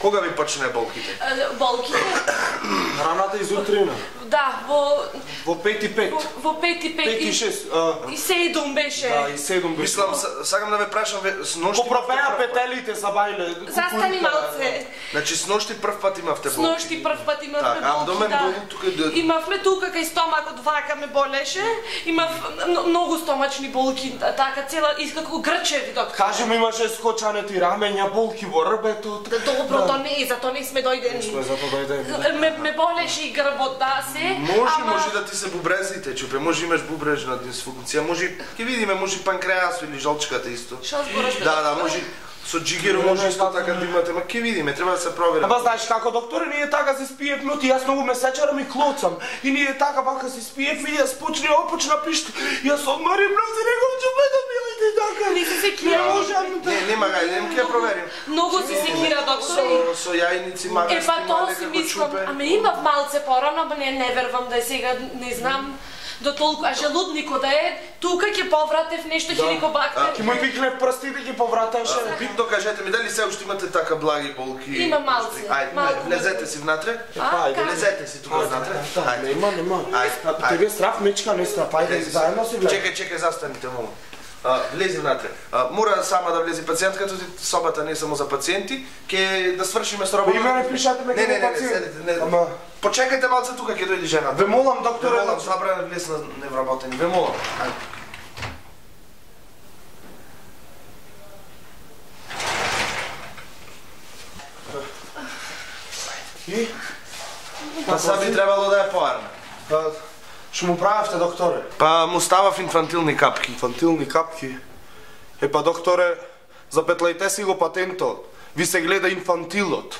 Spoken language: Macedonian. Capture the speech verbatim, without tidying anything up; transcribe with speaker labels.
Speaker 1: Кога ви почне болките?
Speaker 2: Болките?
Speaker 3: Раната изутрина.
Speaker 2: Да, во...
Speaker 3: Во пет и пет.
Speaker 2: Во пет и пет.
Speaker 3: пет и шест.
Speaker 2: И седум беше.
Speaker 3: Да, и седум беше.
Speaker 1: Мислам, сакам да ве прашам, с ношти...
Speaker 3: Попропеа петелите са бајле.
Speaker 2: Застани малце.
Speaker 1: Значи, с ношти прв пат имавте болки?
Speaker 2: С ношти прв пат имавме болки,
Speaker 1: а до мен долу тука...
Speaker 2: Имавме тука кај стомакот, вака ме болеше. Имав многу стомачни болки, така цела, искако грчеви, доктор.
Speaker 3: Кажи ми, имаше скочането и рамења, болки во рбето.
Speaker 2: Добро, то не е, зато не сме дојдени.
Speaker 3: Не сме зато дојдени.
Speaker 2: Ме, ме болеше и грбот, да, се.
Speaker 1: Може,
Speaker 2: ама...
Speaker 1: може да ти се бубрезите, чупе, може имаш бубрежна дисфункција, може, ќе видиме, може панкреасо или жолчката исто.
Speaker 2: Шо збораш?
Speaker 1: Да, да, може со джигеро може исто така да имате, ма ќе видиме, треба да се провери.
Speaker 3: Ама знаеш како, докторе, ние така се спиевме, и јас многу ме сечарам и клоцам. И ние така бака се спиевме и јас почне опочна пишта. Јас одмарим, но се рекам, чупе да билите така.
Speaker 2: Не се секира.
Speaker 1: Не, нема га, идем ќе проверим.
Speaker 2: Многу се секира, доктор.
Speaker 1: Со јајници, магарски,
Speaker 2: Е, па тоа
Speaker 1: мале
Speaker 2: си
Speaker 1: како
Speaker 2: мислам,
Speaker 1: чупе.
Speaker 2: ама имав малце порано, ама не, не вервам да е сега, не знам. До толку, а желудникот да е, тука ќе повратев нешто хеликобактер.
Speaker 3: Ки му викнев прстите, ги повратеше.
Speaker 1: Битно кажете ми, дали се уште имате така благи болки?
Speaker 2: Има малце.
Speaker 1: Ајде, влезете си внатре.
Speaker 3: Ајде,
Speaker 1: влезете си тука внатре. Ајде.
Speaker 3: Нема, нема.
Speaker 1: Ајде,
Speaker 3: Тебе страв мечка, не страв. Ајде, заедно си влезе.
Speaker 1: Чекај, чекај, застаните молам. Влези внатре. Мора сама да влези пациентката, собата не е само за пациенти. Ке да свршиме с работа.
Speaker 3: Име не пишате ме
Speaker 1: како
Speaker 3: пациент.
Speaker 1: Не, не, не, седите, не. Почекајте малце тука, ќе дојде жената.
Speaker 3: Ве молам, докторе.
Speaker 1: Ве молам, забрана влез на невработени. Ве молам.
Speaker 3: И?
Speaker 1: Па са би требало да е поарна.
Speaker 3: Па, што му правевте, докторе?
Speaker 1: Па му ставав инфантилни капки.
Speaker 3: Инфантилни капки? Е, па, докторе, запетлајте си го патентот. Ви се гледа инфантилот.